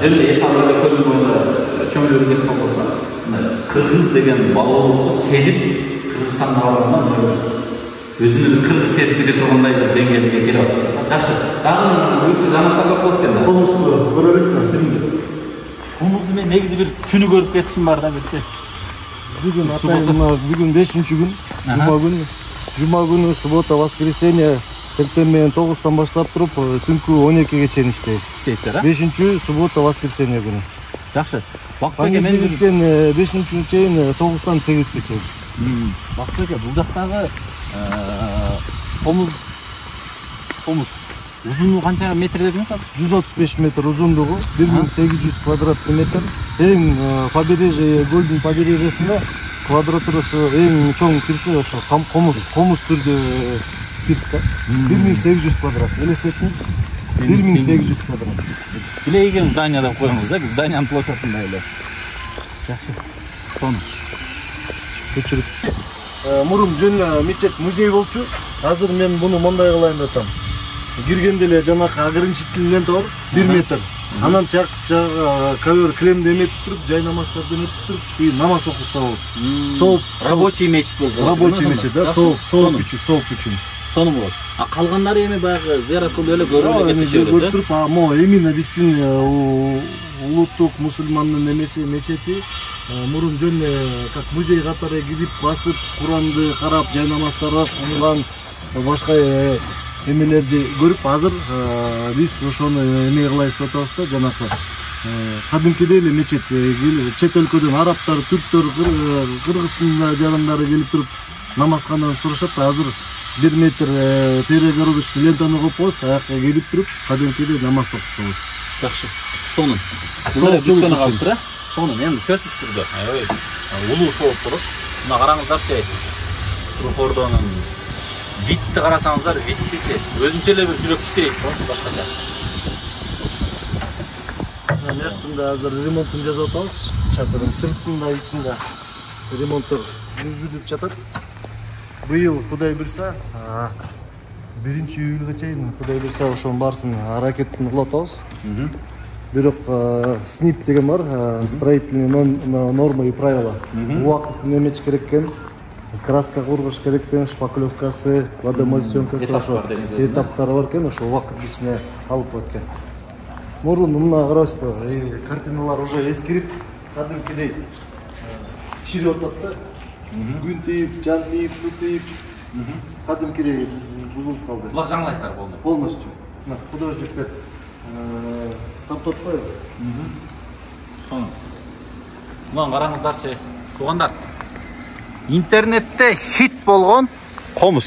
S1: Жөн эле эс алып эле көлдүн боюнда чөмүлүп кетип калса, кыргыз деген баалуулукту сезип Кыргызстанга барганда өзүнүн кыргыз сезип кете тургандай бир деңгээлге келип атат. Жакшы. Дагы өзү жанаттар көп болот экен да.
S2: Комузду көрөлүкмү?
S1: Комузду мен негизи бир түнү көрүп кетишим бар да билсе.
S2: Бүгүн бүгүн 5-күн, жума күнү, суббота, воскресенье эртең менен 9-тан баштап туруп, түнкү 12-ге чейин иштейбиз.
S1: Иштейсиздер, а?
S2: 5-күн, суббота, воскресенье күнү.
S1: Жакшы. Бактык экен
S2: 5-күн чейин 9-тан 8-ге чейин.
S1: Бактык экен, бул жактагы комуз узунлугу канча метр дедиңиз азыр?
S2: 135 метр узундугу, 1800 квадратный метр. Эң побережье, Golden побережьесинде квадратурасы эң чоң пирси ошо комуз түрдө пирс да. 1800 квадрат. Элестетиңиз? 1800 квадрат.
S1: Билейген здание деп коюңуз да, зданиянын площадында эле. Жакшы. Сону.
S2: Көчүрүп. Мурун жөн мечет музей болчу. Азыр мен буну мондай кылайын деп атам. Киргенде эле жанакы ограничительный лента бар, 1 метр. Анан жагы ковер клемди эметип туруп, жай намаздарды эметип туруп, и намаз окуса болот. Сол
S1: рабочий мечит болду.
S2: Рабочий мечит, да, сол үчүн.
S1: Сону болот. А калгандары эми баягы зыярат кылып эле көрүп кетишет.
S2: Көрүп, именно биздин улуттук мусулмандын эмеси мечети мурун жөн как музей катары кирип басып, Куранды карап, жай намаздарды окуган, башка эмелерди көрүп, азыр биз ошону эме кылайбыз деп атабыз да, жанакы кадимкидей эле мечет, чет өлкөдөн арабтар, түрктөр, кыргыздын жарандары келип туруп намазканадан сурашат да, азыр 1 метр перегородочный лентаны коюпбуз, аяка келип туруп, кадимкидей намаз окушабыз.
S1: Жакшы. Сонун. Бул жүктөнүп калыптыр, э? Сонун, эми сөзсүз түрдө. Улуу болуп туруп, мына караңыздарчы. Трухордонун витти карасаңыздар, виттичи өзүнчө эле бир жүрөк титирейт го, башкача.
S2: Мына азыр ремонтун жасап атабыз. Чатырдын сыртында, ичинде ремонттор жүргүзүлүп жатат. Быйыл Кудай буйрса, 1-июлга чейин Кудай буйрса ошонун баарысын аракетин кылып атабыз. бирок СНИП деген бар, строительные нормы и правила. Убакыт неметиш керек экен, краска кургуш керек экен, шпаклевкасы, водомойсёмкасы, ошо этаптары бар экен, ошо убакыт ичине алып коет экен. Мурун мына карабызбы, картиналар уже эскирип, кадимкидей чирип атат да. Күн тийип, жан тийип, суу тийип, кадимкидей бузулуп калды.
S1: Булар жаңылайсыздар
S2: полностью. Мына художниктер таптап койду.
S1: Сону. Мына караңыздарчы, туугандар. Интернетте хит болгон комуз.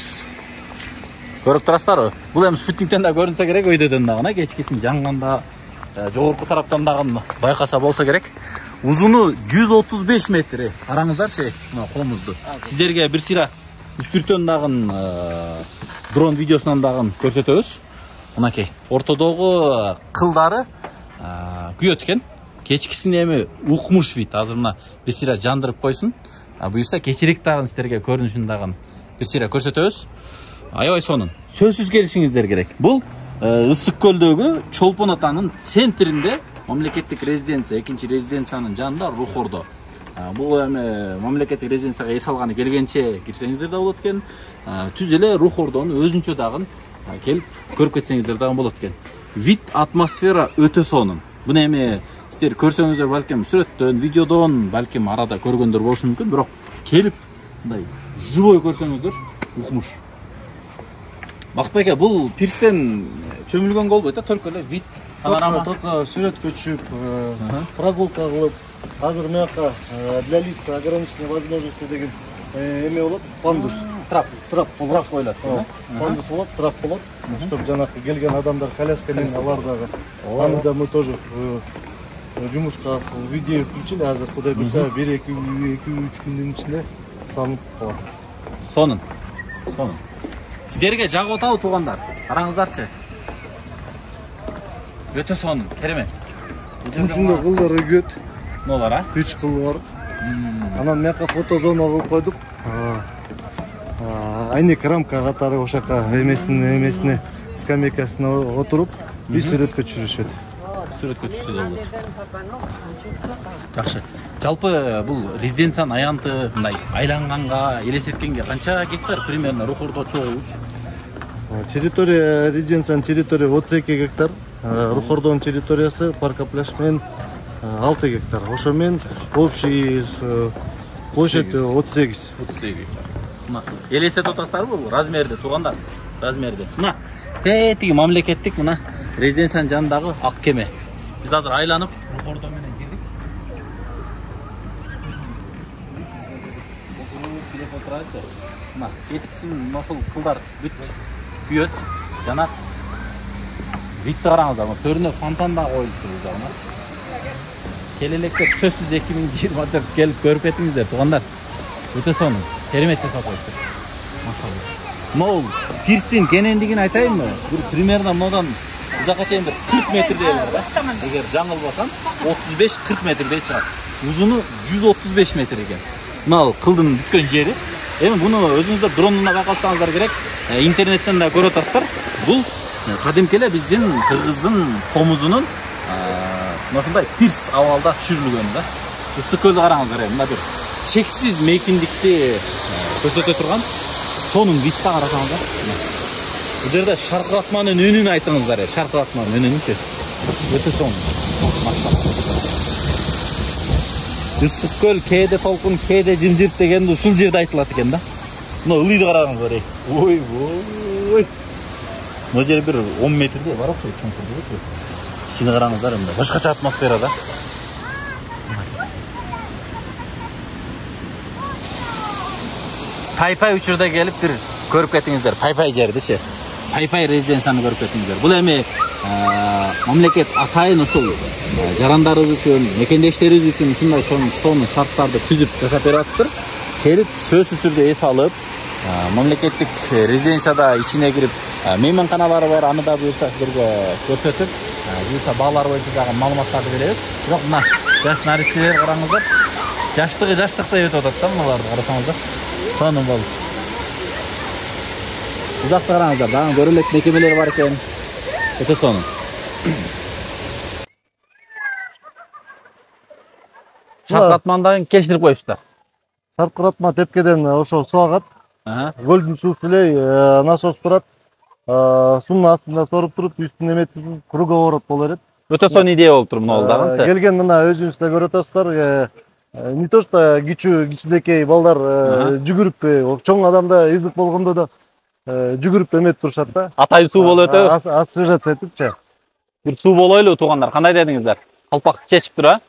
S1: Көрүп турасыздарбы? Бул эми спутниктен да көрүнсө керек, өйдөдөн дагы, кечкисин жанганда, жогорку тараптан дагы байкаса болсо керек. Узуну 135 метр. Караңыздарчы, мына комузду. Сиздерге бир сыйра үстүртөн дагы дрон видеосунан дагы көрсөтөбүз. Мынакей, ортодогу кылдары күйөт экен. Кечкисин эми укмуш вид. Азыр мына бир сыйра жандырып койсун. Буюрса кечирээк дагы сиздерге көрүнүшүн дагы бир сыйра көрсөтөбүз. Аябай сонун. Сөзсүз келишиңиздер керек. Бул Ысык көлдөгү Чолпон атанын центринде мамлекеттик резиденция, экинчи резиденциянын жанында Рухордо. Бул эми мамлекеттик резиденцияга эс алганы келгенче кирсеңиздер да болот экен. Түз эле Рухордону өзүнчө дагы келип көрүп кетсеңиздер дагы болот экен. Вид, атмосфера өтө сонун. Буну эми сиздер көрсөңүздөр балким сүрөттөн, видеодон, балким арада көргөндөр болушу мүмкүн, бирок келип мындай живой көрсөңүздөр укмуш. Бакытбек, бул пирстен чөмүлгөнгө болбойт да, только эле вид, панорама.
S2: Только сүрөткө түшүп, прогулка кылып, азыр мыяка для лиц ограниченной возможности деген эме болот, пандус. Трап коюлат. Пандус болот, трап болот. Чтоб жанакы келген адамдар коляска менен алар дагы. Аны да мы тоже жумушка видео включили, азыр кудай буйрса 1-2-3 күндүн ичинде салынып калат.
S1: Сонун. Сиздерге жагып атабы туугандар? Караңыздарчы. Өтө сонун, керемет.
S2: Ушундай кылдар өгөт.
S1: Нолар,
S2: 3 кыл бар. Анан мыяка фотозона кылып койдук. Айнек рамка катары ошака эмесине скамейкасына отуруп, и сүрөткө түшүрүшөт.
S1: Сүрөткө түшсө да болот. Жакшы. Жалпы бул резиденциянын аянты мындай айланганга, элестеткенге канча гектар примерно Рухордо чогууч?
S2: Территория резиденциянын территория 32 гектар, Рухордонун территориясы парк-пляж менен 6 гектар. Ошо менен общий площадь 38.
S1: 38 гектар. Мына элестетип атасыздарбы бул размерди туугандар? Размерди. Мына тетиги мамлекеттик мына резиденциянын жанындагы ак кеме. Биз азыр айланып Рухордо менен кирдик. Телефон турачы. Мына кечкисин ошол кылдар бүт күйөт. Жана видти караңыздар, төрүнө фонтан да коюлуптур бул жагына. Келелекте сөзсүз 2024 келип көрүп кетиңиздер туугандар. Өтө сонун. Керемет жасап коюптур. Машалла. Мол пирстин кенендигин айтайынбы? Бир примерно мындан узакка чейин 40 метрдей бар да. Эгер жаңылбасам 35-40 метрдей чыгат. Узуну 135 метр экен. Мына кылдын бүткөн жери. Эми буну өзүңүздөр дронунда байкалсаңыздар керек. Интернеттен да көрүп атасыздар. Бул кадимки эле биздин кыргыздын комузунун ушундай пирс абалда түшүрүлгөн да. Ысык көлдү караңыздар, мына бир чексиз мейкиндикти көрсөтө турган сонун видти карасаңыздар. Бул жерде шаркыратманын үнүн айтыңыздар, шаркыратманын үнүнчү. Өтө сонун. Ысык көл кээде толкун, кээде жымжырт дегенди ушул жерде айтылат экен да. Мына ылыйды караңыздар. Ой. Мына жер бир 10 метрдей бар окшойт, чоңкурдугучу. Ичине караңыздар, мына башкача атмосферада. Пай-пай учурда келип бир көрүп кетиңиздер. Пай-пай жердичи. Пай-пай резиденцияны көрүп кетиңиздер. Бул эми мамлекет атайын ушул жарандарыбыз үчүн, мекендештерибиз үчүн ушундай сонун шарттарды түзүп жасап берип атыптыр. Келип сөзсүз түрдө эс алып, мамлекеттик резиденцияда ичине кирип, мейманканалары бар, аны да буюрса сиздерге көрсөтүп, буюрса баалар боюнча дагы маалыматтарды беребиз. Бирок мына жаш наристелер караңыздар. Жаштыктай өтүп атат да мыналарды карасаңыздар. Сонун болуп. Узакта караңыздар, дагы көрө элек мекемелер бар экен. Өтө сонун. шаркыратмандан келиштирип коюпсуздар.
S2: Шаркыратма тепкеден ошо суу агат. Көлдүн суусу эле насос турат. Суунун астында соруп туруп, үстүн эметип круговорот боло берет.
S1: Өтө сонун идея болуп тур мына дагы.
S2: Келген мына өзүңүз да көрүп атасыздар. Не то что кичинекей балдар жүгүрүп, чоң адамда ызык болгондо да жүгүрүп эметип турушат да.
S1: Атайын суу болуп өтөбү.
S2: Освежаться этипчи.
S1: Бир суу болойлу туугандар. Кандай дедиңиздер? Калпакты чечип тур, а?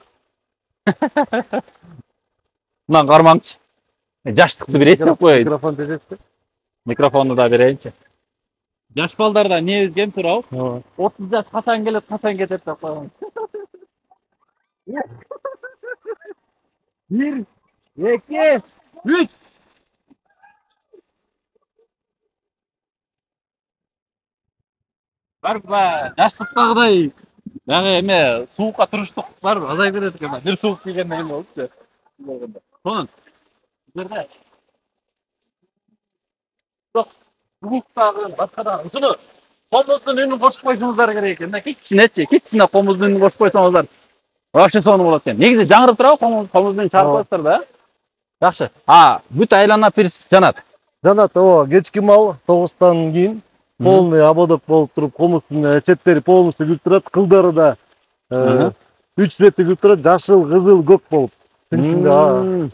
S1: Мына кармаңчы. Жаштыкты бир эстеп коеюн.
S2: Микрофон тежешти.
S1: Микрофонду да берейинчи. Жаш балдарда не кем турабы? 30 жаш качан келет, качан кетет деп коюңуз. 1, 2, 3. Барба, жаштыктагыдай дагы эме суукка туруштуктар азайып кетет экен. Бир суук тийгенден кийин болупчу. Сонун. Жерде. Жок, сууктагы башка да ушуну комуздун үнүн кошуп койсоңуздар керек экен. Кичине комуздун үнүн кошуп койсоңуздар вообще сонун болот экен. Негизи жаңырып турабы комуздун чыгарып коесуздар да. Жакшы. Бүт айлана пирс жанат.
S2: Жанат, кечки мал 9-тан кийин полный ободок болуп туруп, комуздун четтери полностью күлүп турат, кылдары да 3 цветти күлүп турат, жашыл, кызыл, көк болуп. Түнчүндө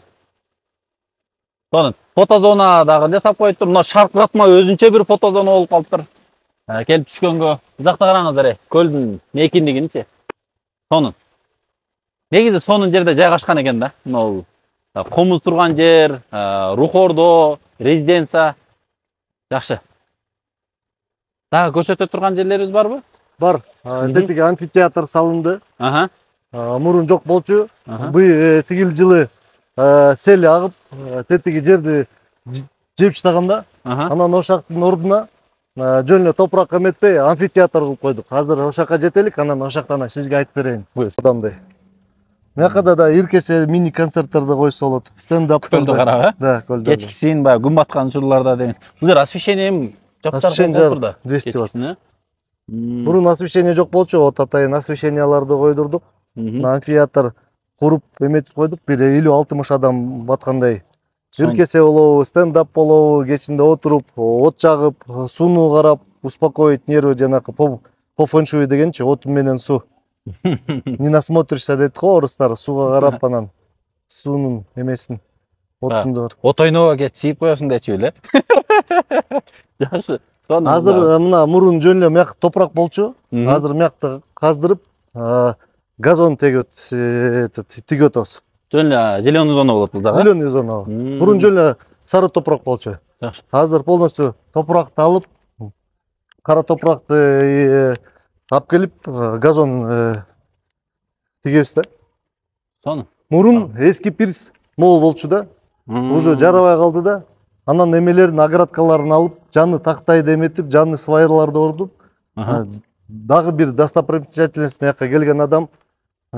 S1: Сонун. Фотозона дагы жасап коюптур. Мына шаркыратма өзүнчө бир фотозона болуп калыптыр. Келип түшкөнгө. Жакта караңыздар, көлдүн мейкиндигинчи. Сонун. Негизи сонун жерде жайгашкан экен да. Мына комуз турган жер, рухордо, резиденция. Жакшы. Дагы көрсөтө турган жерлерибиз барбы?
S2: Бар. Тетиги амфитеатр салынды. Мурун жок болчу. Тигил жылы сел агып, тетиги жерди жеп таштаганда, анан ошактын ордуна жөн эле топурак эметпей амфитеатр кылып койдук. Азыр ошакка жетелик, анан ошактан сизге айтып берейин. Адамдай. Мякада да иркесе мини концерттерди койсо болот. Стендап
S1: көлдү карап,
S2: Да, көлдү.
S1: Кечкисин баягы күн баткан учурларда деңиз. Бул жер освещение жаптар болуп да. Кечкисин.
S2: Мурун освещение жок болчу, вот атайын освещенияларды койдурдук. Амфитеатр куруп эметип койдук. Бир 50-60 адам баткандай. Иркесе болобу, стендап болобу, кечинде отуруп, от жагып, сууну карап, успокоить нервы, жанакы по фэншуй дегенчи, от менен суу. Не насмотришься дейт го орустар, сууга карап анан суунун эмесин, оттунду.
S1: От ойнобо siiп коесуң дечү эле. Жакшы.
S2: Азыр мына мурун жөн эле мyak топурак болчу. Азыр мякты каздырып, газон тигип атабыз.
S1: Жөн эле зеленый зона болот бул дагы.
S2: Зеленый зона. Мурун жөн эле сары топурак болчу.
S1: Жакшы.
S2: Азыр полностью топуракты алып, кара топуракты алып келип, газон тигебиз да.
S1: Сонун.
S2: Мурун эски пирс мол болчу да. Уже жарабай калды да. Анан эмелерин, оградкаларын алып, жаңы тактайды эметип, жаңы свайрларды ордуп, дагы бир достопримечательность мякка келген адам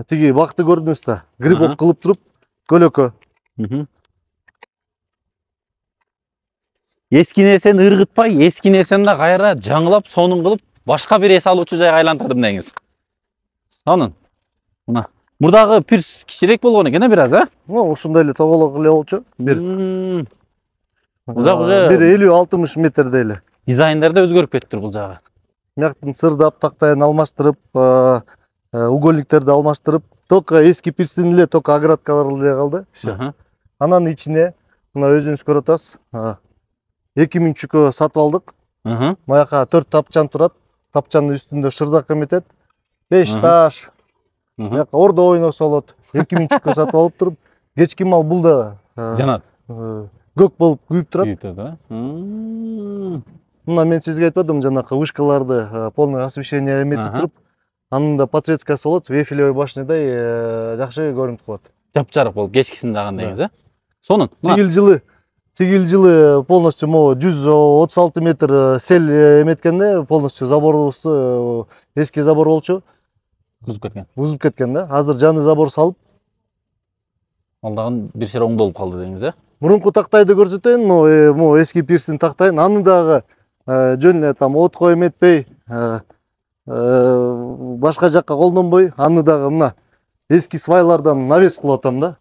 S2: тиги бакты көрдүңүз да, грибок кылып туруп, көлөкө.
S1: Эски нерсени ыргытпай, эски нерсени да кайра жаңылап, сонун кылып, башка бир эс алуучу жайга айлантырдым деңиз. Сонун. Мына мурдагы пирс кичирээк болгон экен бир аз,
S2: Ушундай эле тоголок эле болчу. Бир
S1: уже
S2: 50-60 метрдей эле.
S1: Дизайндары да өзгөрүп кетиптир бул жагы.
S2: Мяктын сырдап, тактайын алмаштырып, угольниктерди алмаштырып, только эски пирстин эле, только оградкалар эле калды. Анан ичине мына өзүңүз көрүп атасыз. 2000 чүкө сатып алдык. Маяка 4 тапчан турат. Тапчанын үстүндө шырдак эметет. 5 таш. Маяка ордо ойносо болот. 2000 чүкө сатып алып туруп, кечки мал бул да
S1: жанат.
S2: Көк болуп күйүп турат. Мына мен сизге айтпадым, жанакы вышкаларды полный освещение эметип туруп, анын да подсветкасы болот, Эйфелевой башнядай жакшы көрүнүп калат.
S1: Жапжарык болуп, кечкисин дагы деңиз, Сонун.
S2: Тигил жылы полностью 136 метр сел эметкенде, полностью заборубузду эски забор болчу. Бузуп кеткен да. Азыр жаңы забор салып,
S1: ал дагы бир шер оңдолуп калды деңиз,
S2: Мурунку тактайды көрсөтөйүн, могу эски пирстин тактайын, аны дагы жөн эле там отко эметпей, башка жакка колдонбой, аны дагы мына эски свайлардан навес кылып атам да.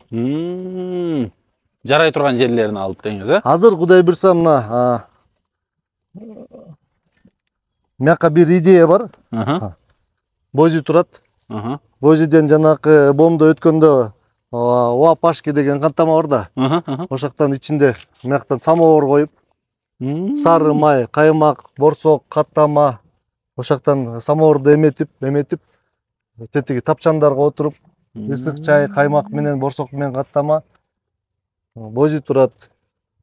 S1: Жарай турган жерлерин алып деңиз, э?
S2: Азыр Кудай буйрса мына мияка бир идея бар. Бози турат. Бозиден жанакы бомдо өткөндө Уапашки деген каттама бар да. Ошоктон ичинде мияктан самовар коюп, сары май, каймак, борсок, каттама, ошоктон самоварды эметип, тетиги тапчандарга отуруп, ысык чай, каймак менен, борсок менен каттама. Бози турат.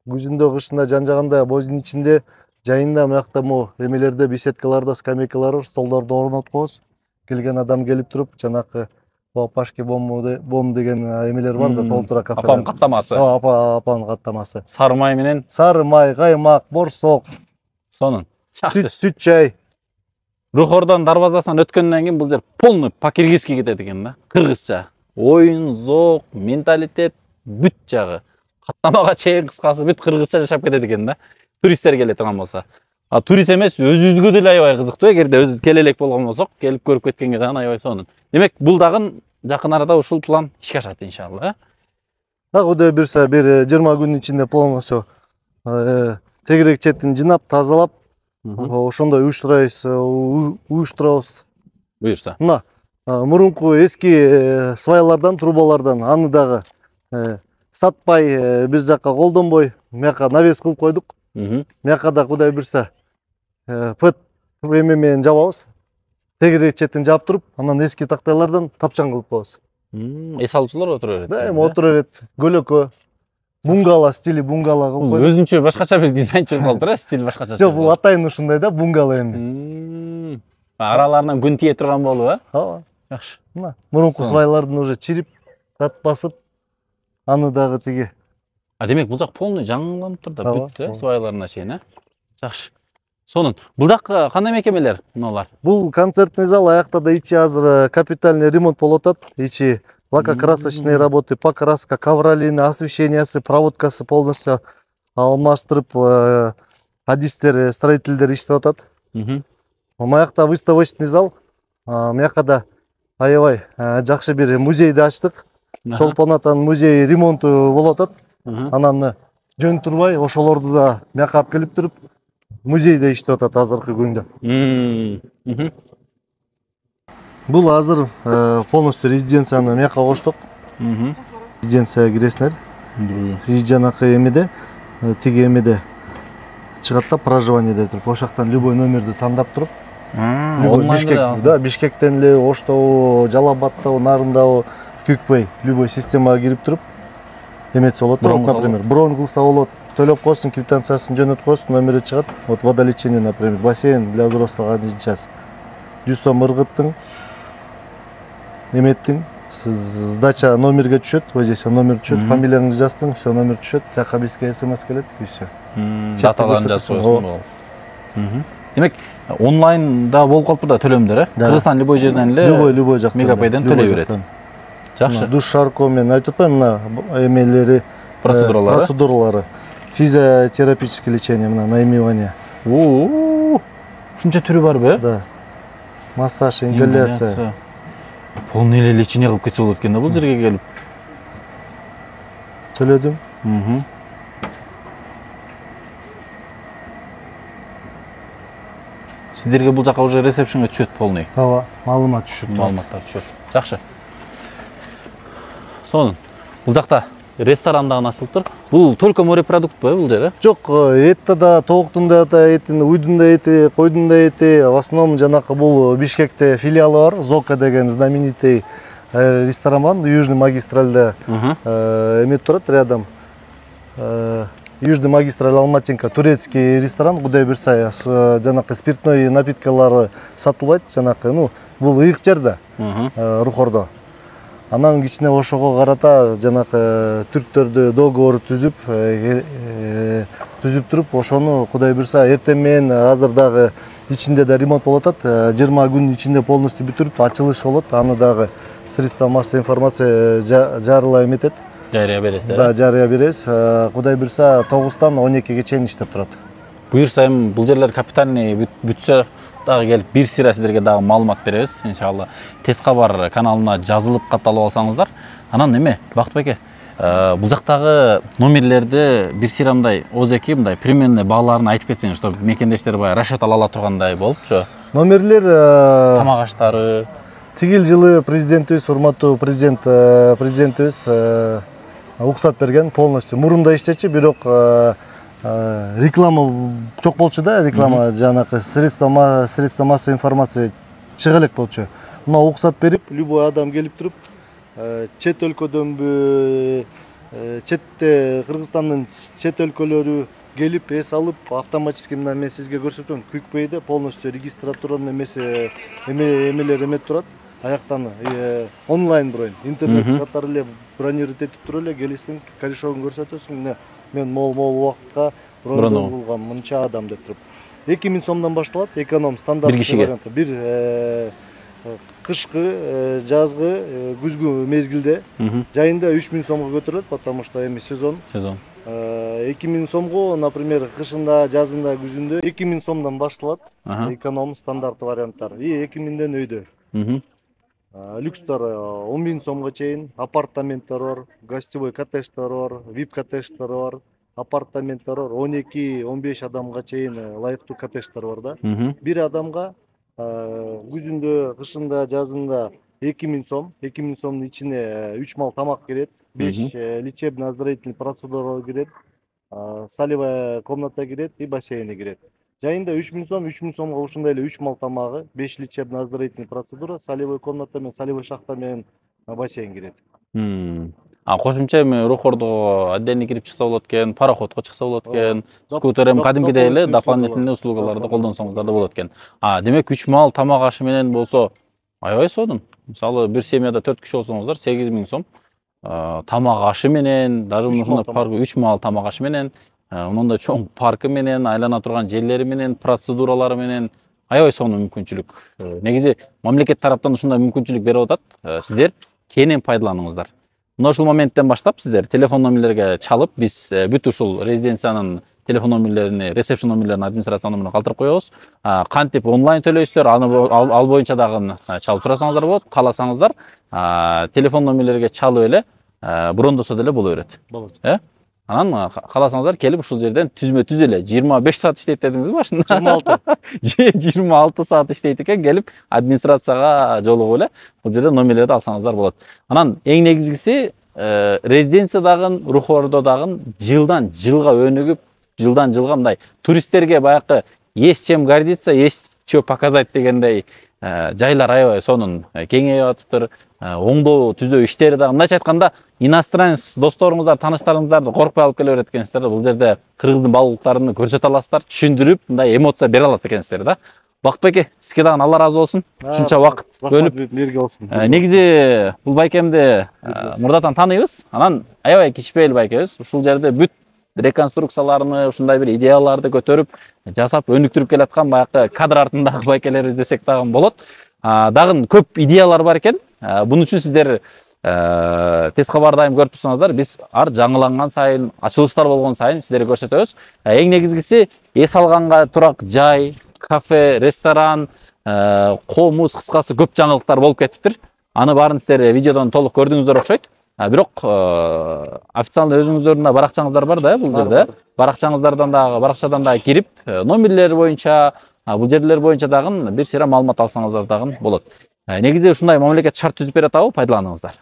S2: Күзүндө, кышында, жан жагында бозинин ичинде, жайында мыякта эмелерде, беседкаларда, скамейкалар бар, столдорду орноткобуз. Келген адам келип туруп, жанакы Уапашки бом деген эмелер бар да, толтура кафе.
S1: Апам каттамасы.
S2: Апанын каттамасы.
S1: Сары май менен.
S2: Сары май, каймак, борсок.
S1: Сонун.
S2: Сүт чай.
S1: Рухордон дарбазасынан өткөндөн кийин бул жер полный по-киргизски кетет экен да. Кыргызча. Оюн, зок, менталитет бүт жагы. Каттамага чейин кыскасы бүт кыргызча жашап кетет экен да. Туристтер келе турган болсо. Турист эмес, өзүбүзгө деле аябай кызыктуу. Эгерде өзүбүз келе элек болгон болсок, келип көрүп кеткенге дагы аябай сонун. Демек, бул дагы жакын арада ушул план ишке ашат иншалла, э?
S2: Кудай буйрса бир 20 күнүн ичинде полностью тегерек четин жынап, тазалап, ошондой уюштурабыз.
S1: Буйрса.
S2: Мына мурунку эски свайлардан, трубалардан аны дагы сатпай, бир жакка колдонбой, мияка навес кылып койдук. Мияка да Кудай буйрса пыт эме менен жабабыз. Тегерек четин жаап туруп, анан эски тактайлардан тапчан кылып коебуз.
S1: Эс алуучулар отура берет.
S2: Да, эми отура берет. Көлөкө, бунгало стили бунгало кылып койдук.
S1: Өзүнчө башкача бир дизайн чыгып калды да, стиль башкача.
S2: Жок, бул атайын ушундай да, бунгало эми.
S1: Араларынан күн тие турган болуп, э?
S2: Ооба.
S1: Жакшы.
S2: Мына мурунку свайлардын уже чирип, тат басып, аны дагы тиги.
S1: Демек, бул жак полный жаңыланып тур да, бүт, э, свайларына чейин, э? Жакшы. Сонун. Бул жак кандай мекемелер мыналар?
S2: Бул концертный зал, аякта да ичи азыр капитальный ремонт болуп атат. Ичи лакокрасочные работы, покраска, ковролины, освещениясы, проводкасы полностью алмаштырып, адистер, строительдер иштеп атат. Маякта выставочный зал, мияка да аябай жакшы бир музейди ачтык. Чолпон атанын музей ремонту болуп атат. Анан жөн турбай, ошолорду да мияка алып келип туруп, музейде иштеп атат азыркы күндө. Бул азыр полностью резиденцияны мияка коштук. Резиденцияга киресиңер. Жанакы эмеде, тиги эмеде чыгат да, проживание деп туруп, ошоктон любой номерди тандап туруп, Бишкектен эле, Оштобу, Жалал-Абадтабы, Нарындабы, Күкбөй, любой системага кирип туруп, эметсе болот. Например, бронь кылса болот, төлөп койсун, квитанциясын жөнөтүп койсун, номери чыгат. Вот водолечение, например, бассейн для взрослых 1 час. 100 сом ыргыттың, эметтиң, сдача номерге түшөт, здесь номер түшөт, фамилияңды жаздың, все номер түшөт, жака бизге смс келет, и все.
S1: Даталарын жазып койсуң. Демек, онлайнда болуп калып да төлөмдөр, э? Кыргызстан любой жерден эле,
S2: любой жактан,
S1: мегапайдан төлөй берет. Жакшы.
S2: Душ шарко менен айтып атпаймынбы, мына эмелери, процедуралары. Физиотерапическое лечение, мына наимивание.
S1: Ушунча түрү барбы, э?
S2: Да. Массаж, ингаляция.
S1: Полный эле лечение кылып кетсе болот экен да бул жерге келип.
S2: Төлөдүм.
S1: Сиздерге бул жака уже ресепшнге түшөт полный.
S2: Ооба, маалымат түшөт.
S1: Маалыматтар түшөт. Жакшы. Сонун. Бул жакта ресторан дагы ачылып тур. Бул только морепродуктпу, бул жер, э?
S2: Жок, этте да, тооктун да этин, уйдун да эти, койдун да эти, в основном жанакы бул Бишкекте филиалы бар, Зока деген знаменитый ресторан, Южный магистральда эмет турат рядом. Южный магистраль Алматинка, турецкий ресторан, Кудай буйрса, жанакы спиртной напиткалары сатылбайт, жанакы, ну, бул ыйык жер да, Рухордо. Анан кичине ошого карата жанакы түрктөрдү договор түзүп туруп, ошону Кудай буйрса эртең менен азыр дагы ичинде да ремонт болуп атат. 20 күн ичинде полностью бүтүрүп ачылыш болот. Аны дагы средства массовой информация жарыла эметет.
S1: Жарыя бересиздер.
S2: Да, жарыя беребиз. Кудай буйрса 9-тан 12-ге чейин иштеп турат.
S1: Буйрса эми бул жерлер капитальный бүтсө дагы келип бир сыйра сиздерге дагы маалымат беребиз. Иншалла Тез кабар каналына жазылып катталып алсаңыздар. Анан эме Бактыбек эке, бул жактагы номерлерди бир сыйра мындай озеки мындай примерный бааларын айтып кетсеңиз, чтобы мекендештер баягы расчет ала тургандай болупчу.
S2: Номерлер
S1: Тамак аштары.
S2: Тигил жылы президентибиз, урматтуу президентибиз уруксат берген полностью. Мурунда иштечи, бирок реклама чок болчу да, реклама жанакы средства массовой информация чыга элек болчу. Мына уруксат берип, любой адам келип туруп, чет өлкөдөнбү, четте Кыргызстандын чет өлкөлөрү келип эс алып, автоматически мына мен сизге көрсөтөм, QuickPay'де полностью регистратуранын эмелер эмет турат. Аяктан онлайн бронь, интернет катары эле бронировать этип туруп эле келесиң, корешогун көрсөтөсүң. Мен мол убакытка бронь кылгам, мынча адам деп туруп. 2000 сомдон башталат, эконом стандарт вариантта. Бир кышкы, жазгы, күзгү мезгилде жайында 3000 сомго көтөрүлөт, потому что эми сезон. 2000 сомго, например, кышында, жазында, күзүндө 2000 сомдон башталат, эконом стандарт варианттар. И 2000ден өйдө. Люкстар 10.000 сомго чейин, апартаменттер бар, гостевой коттедждер бар, VIP коттедждер бар, апартаменттер бар, 12-15 адамга чейин ылайыктуу коттедждер бар да. Бир адамга күзүндө, кышында, жазында 2000 сом, 2000 сомдун ичине 3 мал тамак кирет, 5 лечебно-оздоровительный процедуралар кирет, солевая комната кирет и бассейни кирет. Жайында 3000 сомго ушундай эле 3 мал тамагы, 5 лечебно-оздоровительный процедура, солевой комната менен, солевой шахта менен бассейн кирет.
S1: Кошумча эми рухордого отдельно кирип чыкса болот экен, пароходко чыкса болот экен, скутер эми кадимгидей эле дополнительный услугаларды колдонсоңуздар да болот экен. Демек 3 мал тамак ашы менен болсо аябай сонун. Мисалы бир семьяда 4 киши болсоңуздар 8000 сом тамак ашы менен, даже ушундай парк 3 мал тамак ашы менен, мындай чоң паркы менен, айлана турган жерлери менен, процедуралары менен аябай сонун мүмкүнчүлүк. Негизи мамлекет тараптан ушундай мүмкүнчүлүк берип атат. Сиздер кенен пайдаланыңыздар. Мына ушул моменттен баштап сиздер телефон номерлерге чалып, биз бүт ушул резиденциянын телефон номерлерини, ресепшн номерлерин администрация номерин калтырып коебуз. Кантип онлайн төлөйсүздөр, ал боюнча дагы чалып сурасаңыздар болот. Кааласаңыздар, телефон номерлерге чалып эле брондосо деле боло берет.
S2: Болот.
S1: Анан кааласаңыздар келип ушул жерден түзмө-түз эле 25 саат иштейт дедиңиз башында. 26 саат иштейт экен, келип администрацияга жолугуп эле бул жерден номерлерди алсаңыздар болот. Анан эң негизгиси резиденциядагы, рухордодагы жылдан жылга өнүгүп, жылдан жылга мындай туристтерге баягы есть чем гордиться, есть что показать дегендей жайлар аябай сонун кеңейип атыптыр. Оңдоо түзөө иштери дагы мындайча айтканда иностранец досторуңуздар, тааныштарыңыздарды коркпой алып келе берет экенсиздер. Бул жерде Кыргыздын баалуулуктарын көрсөтө аласыздар, түшүндүрүп, мындай эмоция бере алат экенсиздер да. Бактыбек эке, сизге дагы Алла ыраазы болсун. Ушунча убакыт бөлүп
S2: бирге болсун.
S1: Негизи бул байкемди мурдатан тааныйбыз. Анан аябай кичпейли байкебиз. Ушул жерде бүт реконструкцияларны, ушундай бир идеяларды көтөрүп, жасап, өнүктүрүп келаткан баягы кадр артындагы байкелерибиз десек дагы болот. Дагы көп идеялар бар экен. Bunun için sizler Тез кабар дайым көрүп турсаңыздар, биз ар жаңыланган сайын, ачылыштар болгон сайын сиздерге көрсөтөбүз. Эң негизгиси эс алганга турак жай, кафе, ресторан, комуз, кыскасы көп жаңылыктар болуп кетиптир. Аны баарын сиздер видеодон толук көрдүңүздөр окшойт. Бирок официалдуу өзүңүздөрдүн да баракчаңыздар бар да бул жерде. Баракчадан дагы кирип, номерлер боюнча, бул жерлер боюнча дагы бир сыйра маалымат алсаңыздар дагы болот. Негизи ушундай мамлекет шарт түзүп берет абы, пайдаланыңыздар.